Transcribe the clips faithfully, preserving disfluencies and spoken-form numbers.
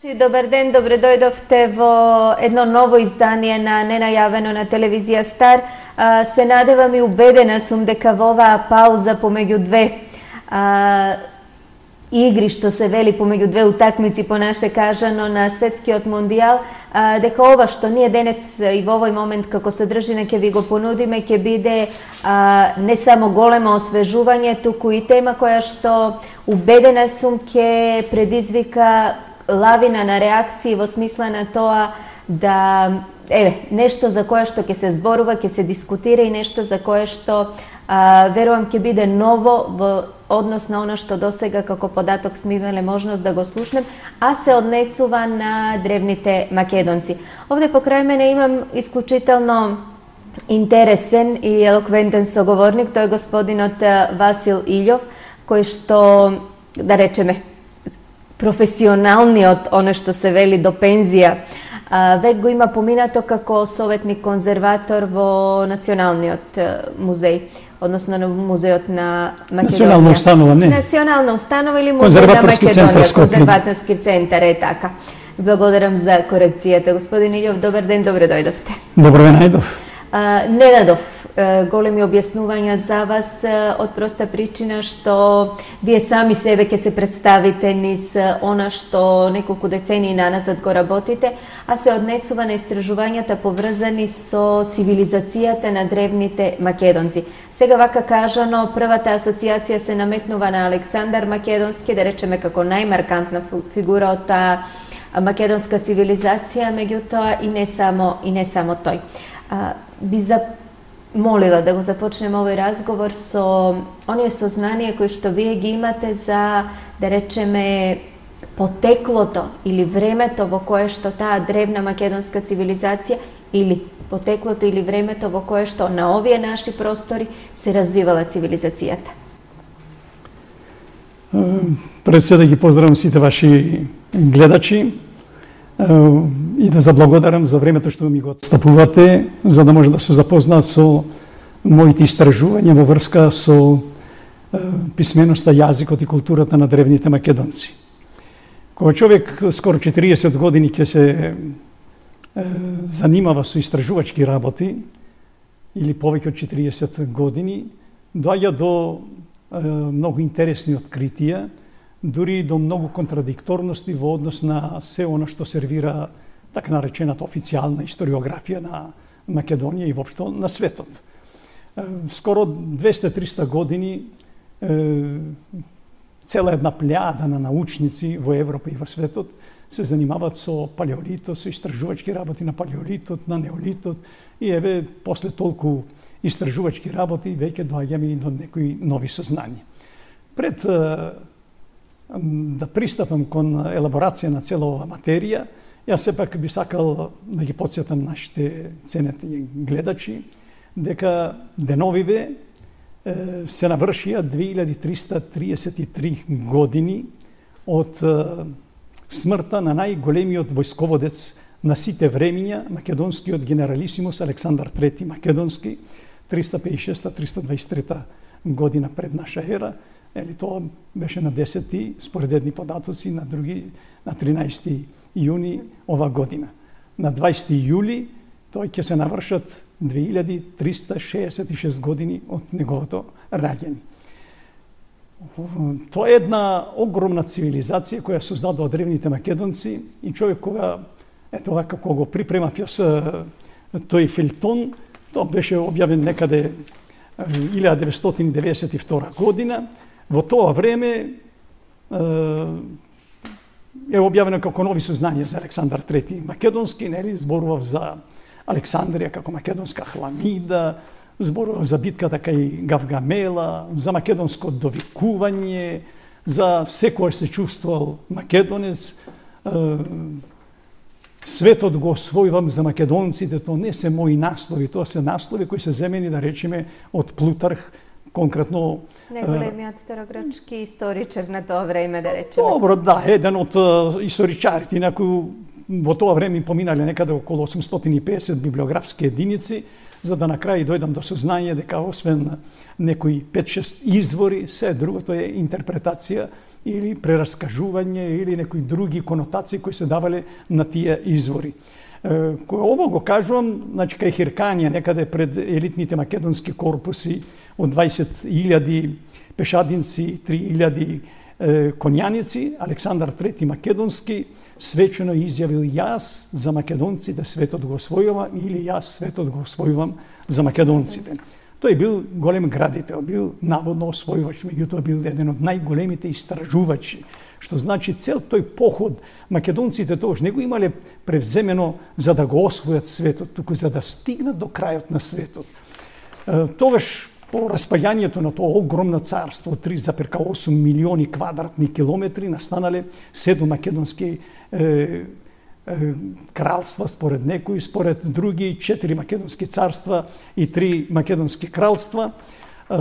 Добар ден, добре дојдовте во едно ново издание на Ненајавено на телевизија Стар. Се надевам и убедена сум дека во оваа пауза помеѓу две а, игри, што се вели помеѓу две утакмици по наше кажано на светскиот мондијал, а, дека ова што ние денес и во овој момент како содржина ќе ви го понудиме ќе биде а, не само големо освежување, туку и тема која што убедена сум ќе предизвика лавина на реакции во смисла на тоа да еве нешто за кое што ќе се зборува, ќе се дискутира и нешто за кое што а, верувам ќе биде ново во однос на она што досега како податок сме имале можност да го слушнем, а се однесува на древните македонци. Овде покрај мене имам исклучително интересен и елоквентен соговорник, тој е господинот Васил Илјов, кој што, да речеме, професионалниот, оно што се вели до пензија, век го има поминато како советник конзерватор во Националниот музеј, односно на музеот на Македонија. Национална установа, не? Национална установа или музеј на Македонија, конзерваторски центар, е така. Благодарам за корекцијата. Господин Илјов, добар ден, добре дојдовте. Добро ве најдов. Не дадов големи објаснувања за вас од проста причина што вие сами себе ќе се представите низ она што неколку децении наназад го работите, а се однесува на истражувањата поврзани со цивилизацијата на древните македонци. Сега вака кажано, првата асоциација се наметнува на Александар Македонски, да речеме како најмаркантна фигура од таа македонска цивилизација, меѓутоа и не само и не само тој. Би замолила да го започнем овој разговор со оние сознанија кои што вие ги имате за, да речеме, потеклото или времето во кое што таа древна македонска цивилизација или потеклото или времето во кое што на овие наши простори се развивала цивилизацијата. Пред се да ги поздравам сите ваши гледачи и да заблагодарам за времето што ми го отстапувате, за да може да се запознаат со моите истражувања во врска со писменоста, јазикот и културата на древните македонци. Кога човек скоро четириесет години ќе се занимава со истражувачки работи, или повеќе од четириесет години, доаѓа до многу интересни откритија, дури до многу контрадикторности во однос на се она што сервира така наречената официјална историографија на Македонија и воопшто на светот. Скоро двесте-триста години цела една плејада на научници во Европа и во светот се занимаваат со палеолитот, со истражувачки работи на палеолитот, на неолитот и еве после толку истражувачки работи веќе доаѓаме и до некои нови сознанија. Пред да пристапам кон елаборација на цела оваа материја, јас сепак би сакал да ги потсетам нашите ценети гледачи дека деновиве се навршија две илјади триста триесет и три години од смртта на најголемиот војсководец на сите времиња, македонскиот генералисимус Александар трети Македонски, триста пеесет и шеста - триста дваесет и трета година пред наша ера. Ели тоа беше на десети, според едни податоци, на други на тринаесети јуни ова година. На дваесети јули тој ќе се навршат две илјади триста шеесет и шест години од неговото раѓање. Тоа е една огромна цивилизација која создадоа древните македонци и човек кога ето вака кога го припремав јас тој филтон, тоа беше објавен некаде илјада деветстотини деветдесет и втора година. Во тоа време е објавено како нови сознанија за Александар трети Македонски, нели, зборував за Александрија како македонска хламида, зборував за битката кај Гавгамела, за македонско довикување, за секој се чувствувал македонец. Светот го освојувам за македонците, тоа не се мои наслови, тоа се наслови кои се земени, да речеме, од Плутарх, конкретно најголемиот старогрчки историчар на тоа време, да речеме. Добро, да, еден од историчарите, некои во тоа време поминале некаде околу осумстотини и песет библиографски единици, за да на крај дојдам до сознание дека освен некои пет-шест извори, се другото е интерпретација или прераскажување или некои други конотации кои се давале на тие извори. Кој ово го кажувам, значи кај Хирканија, некаде пред елитните македонски корпуси од дваесет илјади пешадинци, три илјади конјаници, Александар трети Македонски свечено изјавил: јас за македонците светот го освојувам, или јас светот го освојувам за македонците. Тој бил голем градител, бил наводно освојувач, меѓутоа бил еден од најголемите истражувачи, што значи цел тој поход македонците тогаш не го имале превземено за да го освојат светот, туку за да стигнат до крајот на светот. Тогаш по распаѓањето на тоа огромно царство, три зарез осум милиони квадратни километри, настанале седум македонски е, е, кралства според некои, според други четири македонски царства и три македонски кралства, е,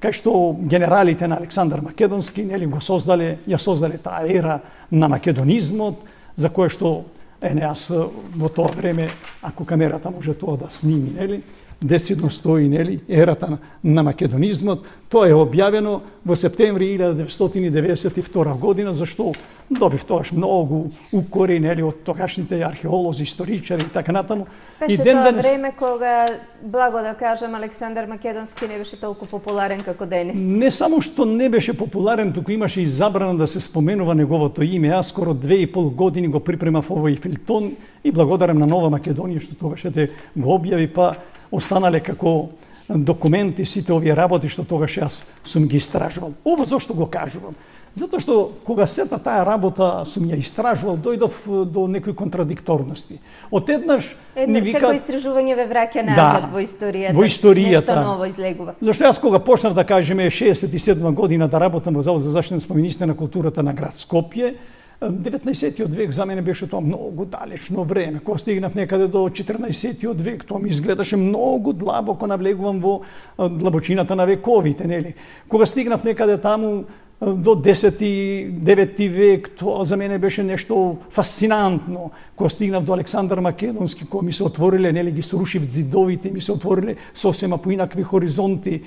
кај што генералите на Александар Македонски нели го создале, ја создале таа ера на македонизмот, за кое што ене аз во тоа време, ако камерата може тоа да сними, нели, десетно стои, нели, ерата на македонизмот. Тоа е објавено во септември илјада деветстотини деветдесет и втора година, зашто добив тогаш многу укори, нели, од тогашните археолози, историчари и така натаму. Беше тоа денес... време кога, благо да кажам, Александар Македонски не беше толку популарен како денес. Не само што не беше популарен, туку имаше и забрана да се споменува неговото име. Аз скоро две и пол години го припремав овој филтон и благодарам на Нова Македонија што тогаш ете го објави, па останале како документи сите овие работи што тогаш јас сум ги истражувал. Ово зошто го кажувам? Затоа што кога сета таа работа сум ја истражувал, дојдов до некои контрадикторности. Од еднаш ни вика... Секој истражување ве враќа назад, да, во историјата. Во историјата. Нешто ново излегува. Зашто јас кога почнав да кажеме шеесет и седма година да работам во Завод за заштита на спомениците на културата на град Скопје, деветнаесеттиот век за мене беше тоа многу далечно време. Кога стигнав некаде до четрнаесеттиот век, тоа ми изгледаше многу длабоко, навлегувам во длабочината на вековите, нели. Кога стигнав некаде таму до десети, деветти век, тоа за мене беше нешто фасцинантно. Кога стигнав до Александар Македонски, кога ми се отвориле, нели, ги срушив зидовите, ми се отвориле сосема поинакви хоризонти,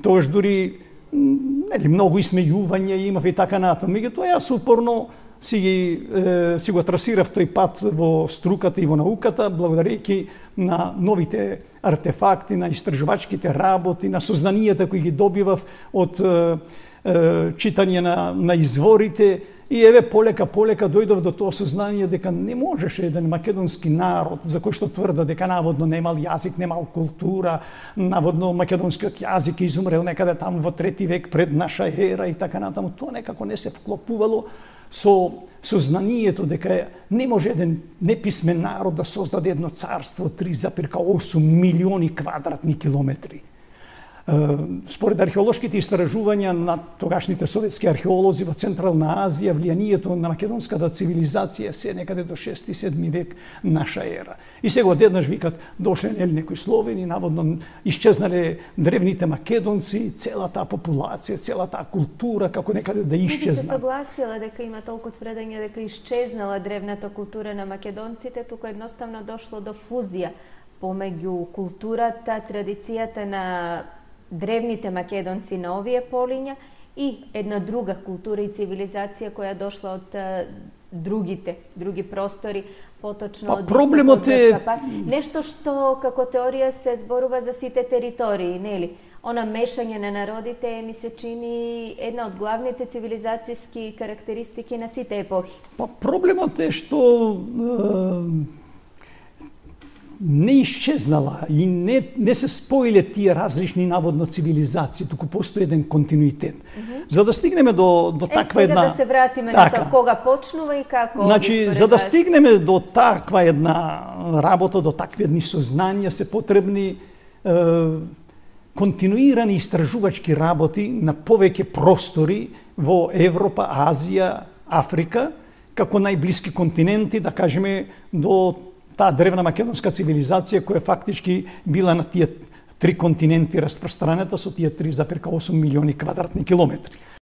тоаш дури нели многу исмејување имав и така натаму. Меѓутоа јас упорно си, е, си го трасирав тој пат во струката и во науката, благодарејќи на новите артефакти, на истражувачките работи, на сознанијата кои ги добивав од е, е, читање на, на изворите. И еве полека полека дојдов до тоа сознание дека не можеше еден македонски народ, за кој што тврда дека наводно немал јазик, немал култура, наводно македонскиот јазик изумрел некаде таму во трети век пред наша ера и така натаму, тоа некако не се вклопувало со сознанието дека не може еден неписмен народ да создаде едно царство три зарез осум милиони квадратни километри. Според археолошките истражувања на тогашните советски археолози во Централна Азија, влијанието на македонската цивилизација се некаде до шести и седми век наша ера. И сега одеднаш викат дошле нели некои словени, наводно исчезнале древните македонци, целата популација, целата култура како некаде да исчезна. Не би се согласила дека има толку тврдење дека исчезнала древната култура на македонците, туку едноставно дошло до фузија помеѓу културата, традицијата на древните македонци на овие полиња и една друга култура и цивилизација која дошла од другите, други простори, поточно па, од проблемот е нешто што како теорија се зборува за сите територии, нели? Она мешање на народите ми се чини една од главните цивилизацијски карактеристики на сите епохи. Па проблемот е што е... не исчезнала и не, не се споиле тие различни наводно цивилизации, туку постои еден континуитет. Mm -hmm. За да стигнеме до, до таква е, една... Е, сега да се вратиме така. На тоа кога почнува и како... Значи, за да стигнеме до таква една работа, до такви едни сознанија, се потребни е, континуирани истражувачки работи на повеќе простори во Европа, Азија, Африка, како најблиски континенти, да кажеме, до таа древна македонска цивилизација која фактички била на тие три континенти распространета со тие три зарез осум милиони квадратни километри.